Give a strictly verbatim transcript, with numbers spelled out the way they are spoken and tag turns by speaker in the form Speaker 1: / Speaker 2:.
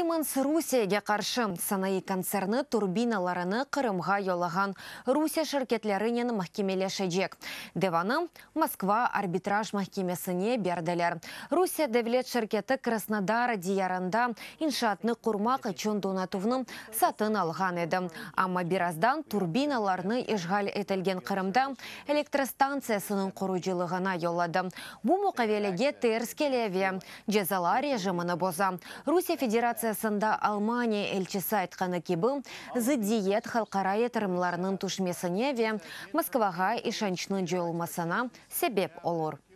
Speaker 1: Siemens Rusiyege qarşı sanayı kontserni turbinalarını Qırımğa yollağan Rusiye şirketlerinen mahkemeleşecek. Davanı Moskva arbitraj mahkemesine berdiler. Rusiye devlet şirketi Krasnodar diyarında inşaatnı qurmaq içün donatuvnı satın alğan edi. Amma birazdan turbinalarnı işğal etilgen Qırımda elektrostantsiyasınıñ qurucılığına yolladı. Bu muqavelege ters kele ve cezalar rejimini boza. Rusiye Federatsiyasında Almaniya elçisi aytqanı kibi, zıddiyet halqara yatırımlarınıñ tüşmesine ve Moskvağa işançnıñ coyulmasına sebep olur.